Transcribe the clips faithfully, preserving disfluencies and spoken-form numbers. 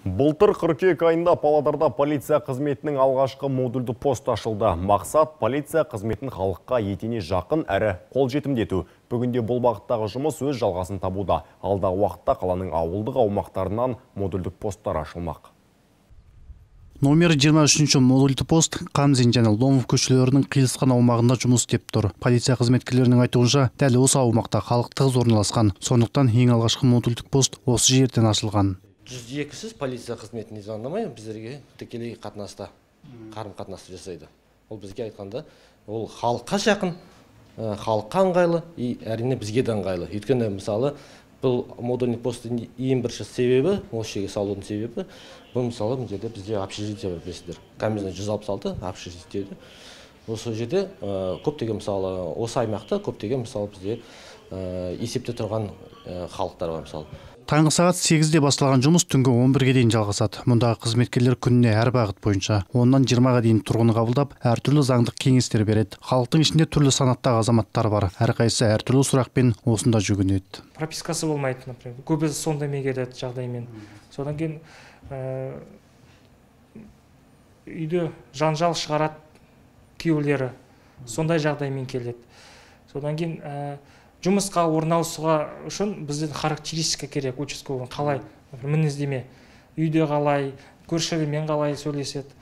Былтыр кыркүйек айында Павлодарда полиция қызметінің алғашқы модульді пост ашылды. Мақсат полиция қызметін халыққа етене жақын әрі қол жетімдету. Бүгінде бұл бағыттағы жұмыс өз жалғасын табуда. Алдағы уақытта қаланың ауылдық аумақтарынан модульдік посттар ашылмақ. Номер жыйырма үчүнчү модульдүү пост Камзин жана Ломов көчөлөрүнүн кыйылышкан аумагында жұмыс істеп тұр. Полиция қызметкерлерінің айтуынша, дәл осы аумақта халық тығыз орналасқан. Сондықтан ең алғашқы модульдік пост осы жерден ашылған. жүз экисіз полиция қызметіне звондамай біздерге тікелей қатынаста, қарым-қатынасты жасайды. Ол бізге айтқанда, ол халыққа жақын, халыққа ыңғайлы, и әрине бізге де ыңғайлы. Өйткені мысалы, бұл модульный посттың ең бірінші себебі, осы жерге салудың себебі, бұл мысалы бұл жерде бізде общежитие бар, білесіздер. Камзин жүз алпыс алты общежитие. Осы жерде көптеген мысалы, осы аймақта көптеген мысалы бізде есепте тұрған халықтар бар мысалы. Таңғы сағат сегизде басталған жұмыс түнгі он бирге дейін жалғасады. Мұндағы қызметкерлер күніне әр бағыт бойынша оннан жыйырмага дейін тұрғыны қабылдап, әртүрлі заңдық кеңестер береді. Халықтың ішінде түрлі санаттағы азаматтар бар. Әрқайсысы әртүрлі сұрақпен осында жүгінеді. Пропискасы болмайды, например. Көбісі сондай келеді жағдаймен. Содан кейін үйде жанжал шығарады күйеулері. Сондай жағдаймен келеді. Содан кейін жұмысқа орналасуға үшін бізден характеристика керек, участковый қалай, мінездеме, үйде қалай, көршілермен қалай сөйлеседі.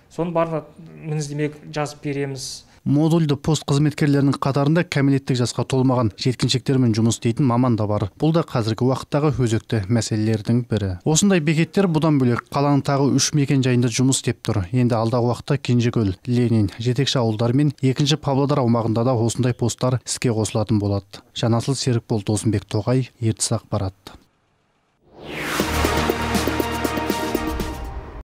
Соны барлық мінездеме жазып береміз. Модульді пост қызметкерлерінің қатарында кәмелеттік жасқа толмаған жеткіншектермен жұмыс істейтін маман да бар. Бұл да қазіргі уақыттағы өзекті мәселелердің бірі. Осындай бекеттер бұдан бөлек қаланың тағы үш мекен жайында жұмыс істеп тұр. Енді алдағы уақытта Кенжекөл, Ленин, жетекші ауылдар мен екінші Павлодар аумағында да осындай посттар іске қосылатын болады. Жанасыл Серікбол, Досымбек Тоғай, Ертіс ақпарат.